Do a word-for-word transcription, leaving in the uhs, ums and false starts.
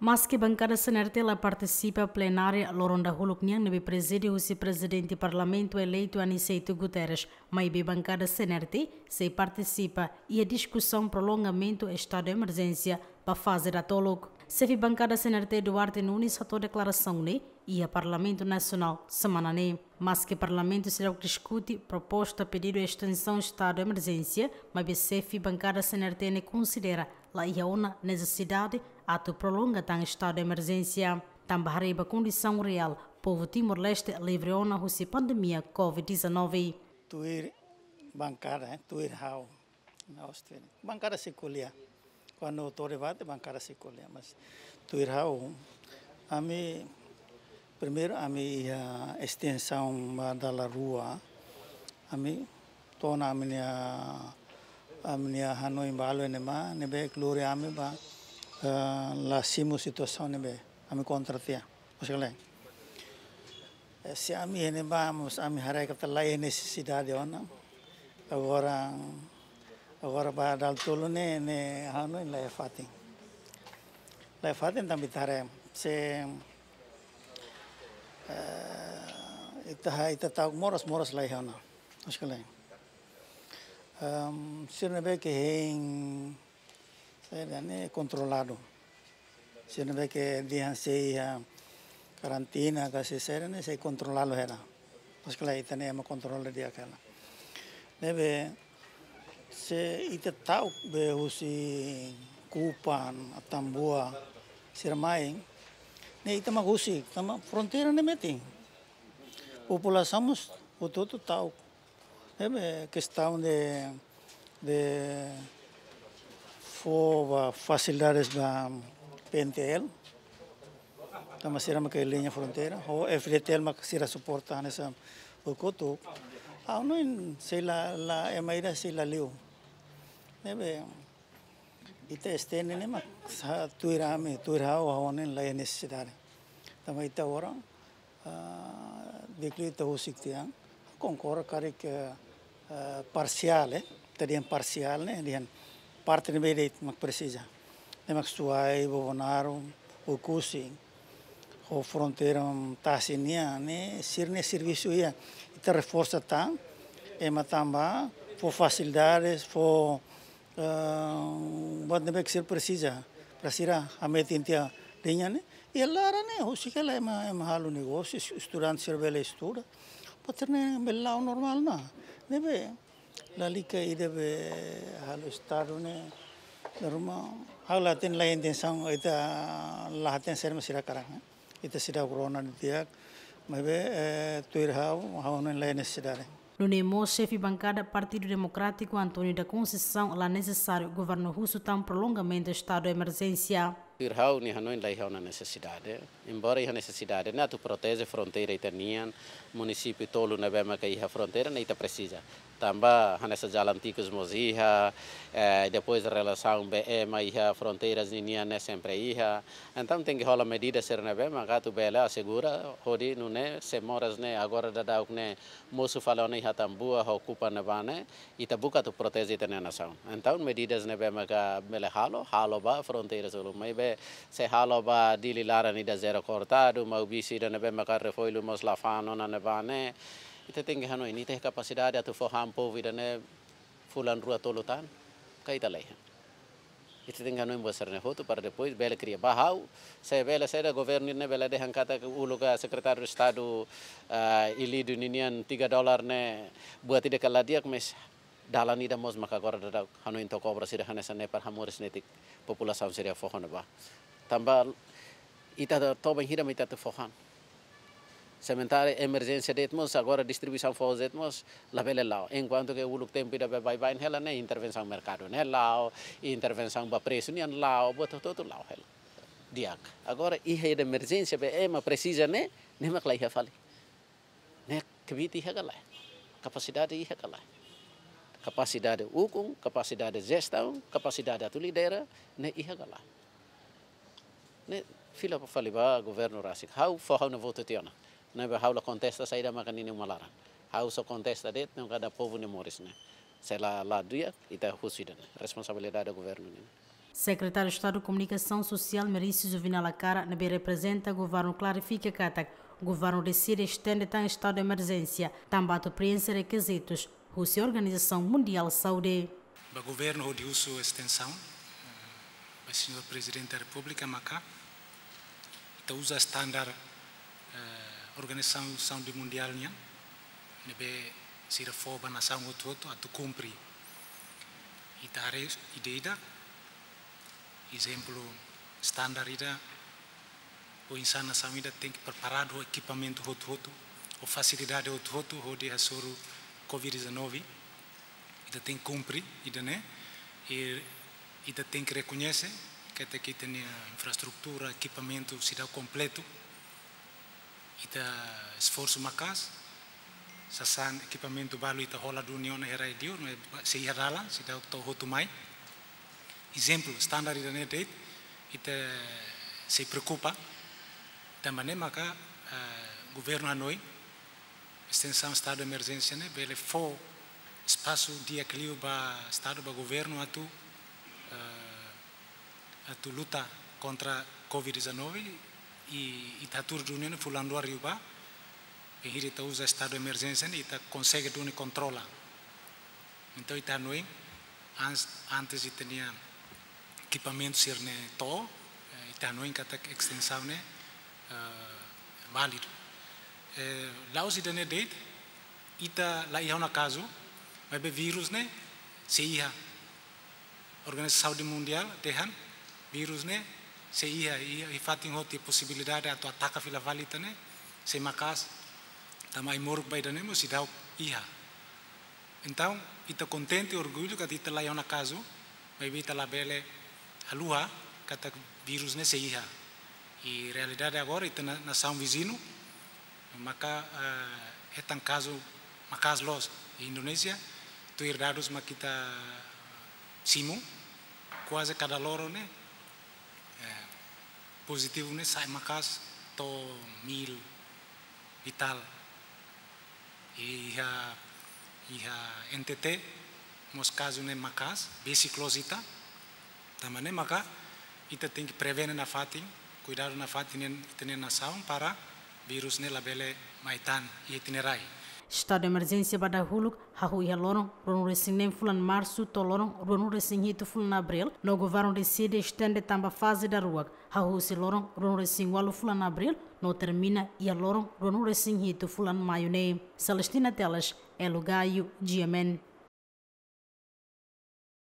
Maske bankada C N R T la partisipa plenária loron dahuluk nian ne'ebé prezide husi Prezidente Parlamentu eleitu Aniceto Guterres, maibé bankada C N R T sei partisipa iha diskusaun prolongamentu estadu de emerjénsia ba faze datoluk. Xefe bankada C N R T Duarte Nunes hato'o deklarasaun ne'e iha Parlamentu Nasionál semana ne'e. Maske Parlamentu seidauk diskute proposta pedidu estensaun estadu de emerjénsia, maibé xefe bankada C N R T ne'e konsidera la iha ona nesesidade atu prolonga tan estadu de emerjénsia. Tanba haree ba kondisaun reál povu Timor-Leste livre ona husi pandemia covid dezanove. Tuir bankada, eh, tuir ha'u. Na Austrália. Bankada sei ko'alia. Kuandu to'o debate, bankada sei ko'alia. Mas tuir ha'u, ami, primeiru, ami iha estensaun ba dala rua. Ami to'o ona ami-nia, ami-nia hanoin balu ne'ebá, ne'ebé klore ami ba, eh, la simu situasaun ne'ebé. Ami kontra tiha. Maksudnya, eh, se ami iha ne'ebá, mós ami haree katak la iha nesesidade ona. Agora, agora ba dala tolu ne'e, ne'e ha'u hanoin la iha fatin. La iha fatin tanba ita haree. Se, eh, ita ha-, ita ta'uk moras, moras la iha ona. Maksudnya, em, sira ne'ebé ke hein, saida ne'e kontroladu. Sira ne'ebé ke dehan sei iha karantina ka sei saida ne'e sei kontroladu hela. Maksudnya ita-nia ema kontrola di'ak hela. Ne'ebé se ita ta'uk be husi Kupang, Atambua, sira mai, ne'e ita mak husik, tanba fronteira ne'e metin. Populasaun mós hotu-hotu ta'uk. Ne'ebé kestaun de, de fó ba fasilidades ba P N T L. Tanba sira mak iha liña fronteira. Ho F D T L mak sira suporta hanesan buat kotuk. Ha'u hanoin sei la, la ema ida sei la liu. Ne'ebé ita estende ne'e mak sa tuir ami, tuir ha'u, ha'u hanoin la iha nesesidade. Tanba ita agora, ah, dekretu husik tiha, konkorda karik, eh, parsiál, eh, ita dehan parsiál ne'e, dehan parte ne'ebé de'it mak presiza. Ne'e mak Suai, Bobonaro, Oekusi, ho fronteira, mm, tasi nian, ne'e sira-nia servisu iha, ita reforsa tan, ema tan bá, fó fasilidades, fó, eh, buat ne'ebé ke sira presiza, para sira hametin tiha liña ne'e, iha laran ne'e, husik hela ema, ema halo negósiu, es-, estudante sira bele estuda, buat sira-ne'e bele la'o normál ona. Ne'ebé, lalika ida be halo estadu ne'e, normal, ha'u la hatene la iha intensaun, ita la hatene saida mak sira hakarak, eh. Ita seidauk rona didi'ak, maibé, eh, tuir ha'u, ha'u hanoin la iha nesesidade. Nune'e mós xefe bankada Partidu Demokrátiku António da Conceição la nesesáriu governu husu tan prolongamentu estadu de emerjénsia. Tuir ha'u, nia hanoin la iha ona nesesidade. Embora iha nesesidade ne'e atu proteje fronteira ita-nian, munisípiu tolu ne'ebé maka iha fronteira ne'e ita presiza. Tanba hanesan jalan tikus mós iha, eh, depois relasaun be ema iha fronteiras ninian ne'e sempre iha. Entaun tenke hola medida sira ne'ebé maka atu bele asegura, hodi nune'e se moras ne'e agora daudauk ne'e mosu fali ona iha Atambua ho Kupang ne'ebá ne'e, ita buka atu proteje ita-nia nasaun. Entaun medidas ne'ebé maka bele halo, halo ba fronteira tolu. Maibé se halo ba Dili laran ida zero kortadu, Maubisse ida ne'ebé maka refourillu mós la fa'an ona ne'ebá ne'e, ita tenke hanoin, ita iha kapasidade atu fó han povu ida-ne'e fulan rua tolu tan, ka ita la iha. Ita tenke hanoin buat sira-ne'e hotu para depois bele kria. Ba ha'u, se bele saida governu ne'e bele dehan katak uluk sekretáriu Estadu, ah, Ilídio ninian tiga dolar ne'e buat ida ke la di'ak, mas dalan ida mós maka agora daudauk hanoin to'o kobra sira hanesan ne'e para hamoris netik populasaun sira fó han ba. Tanba ita toba hira mak ita atu fó han. Sementara emerjénsia de'it mós, agora distribuisaun foos de'it mós labele la'o. Enkuantu ke uluk tempu ida be baibain hela ne'e intervensaun merkadu ne'e la'o, intervensaun ba presu nian la'o, buat hotu-hotu la'o hela. Di'ak. Agora iha ida emerjénsia be ema presiza ne'e, ne'e mak la iha fali. Ne'e kbiit iha ka lae? Kapasidade iha ka lae? Kapasidade ukun, kapasidade jestaun, kapasidade atu lidera, ne'e iha ka lae? Ne'e fila fali ba governu rasik. Ha'u fó ha'u-nia votu tiha ona. Ne'ebé ha'u la kontesta saida maka ninia uma laran. Ha'u só kontesta de'it ne'e kada povu nia moris ne'e. Se la, la di'ak, ita husu ida-ne'e. Responsabilidade governu nian. Sekretáriu Estadu Komunikasaun Sosiál Merício Juvenal Acara, ne'ebé reprezenta governu, klarifika katak governu deside estende tan estadu de emerjénsia tanba atu prienxe rekizitus husi Organizasaun Mundiál Saúde. Ba governu hodi husu estensaun, eh, ba señór Prezidente da Repúblika maka ita uza standar, eh, Organizasaun Saúde Mundiál nian, ne'ebé sira fó ba nasaun hotu-hotu atu kumpre. Ita haree ida-idak, ezemplu, standar ida, oinsá nasaun ida tenke preparadu ho ekipamentu hotu-hotu, ho fasilidade hotu-hotu hodi hasoru covid dezanove. Ita tenke kumpre ida-ne'e, i ita tenke rekoñese katak ita-nia infraestrutura, ekipamentu seidauk kompletu. Ita esforsu maka'as, sasán ekipamentu balu ita hola duni ona iha rai liur, maibé sei iha dalan, seidauk to'o hotu mai. Ezemplu, standar ida-ne'e de'it, ita sei preokupa, tanba ne'e maka, eh, governu hanoin estensaun estadu de emerjénsia ne'e bele fó espasu di'ak liu ba estadu, ba governu atu, eh, atu luta kontra covid dezanove, i ita hatuur duni ne'e fulan rua liubá, bainhira ita uza estadu de emerjénsia ne'e ita konsege duni kontrola. Entaun ita hanoin, ans-, antes ita-nia ekipamentu sira-ne'e to'o, eh, ita hanoin katak estensaun ne'e, eh, válidu. Eh, la'ós ida-ne'e de'it, ita la iha ona kazu, maibé vírus ne'e sei iha. Organizasaun Saúde Mundiál dehan vírus ne'e sei iha, iha, iha fatin hotu, posibilidade atu ataka fila fali ita-nia, sei maka'as, tanba ai-moruk ba ida-ne'e mós seidauk iha. Entaun, ita kontente, orgullu katak ita la iha ona kazu, maibé ita labele haluha katak vírus ne'e sei iha. I realidade agora ita-nia nasaun viziñu maka, eh, hetan kazu maka'as loos. Indonézia, tuir dadus mak ita simu, kuaze kada loron ne'e, eh, pozitivu ne'e sa'e maka'as to'o mil e tal. Iha, iha N T T mós kazu ne'e maka'as, besik loos ita. Tanba ne'e maka ita tenke prevene nafatin, kuidadu nafatin iha ita-nia nasaun para vírus ne'e labele mai tan iha ita-nia rai. Estadu de emerjénsia ba dahuluk hahú iha loron ruanulu-resin-neen fulan Marsu to'o loron ruanulu-resin-hitu fulan Abríl, no governu deside estende tanba faze daruak, hahú husi loron ruanulu-resin-ualu fulan Abríl, no termina iha loron ruanulu-resin-hitu fulan Maiu ne'e. Celestina Teles, Elo Gaio, G M N.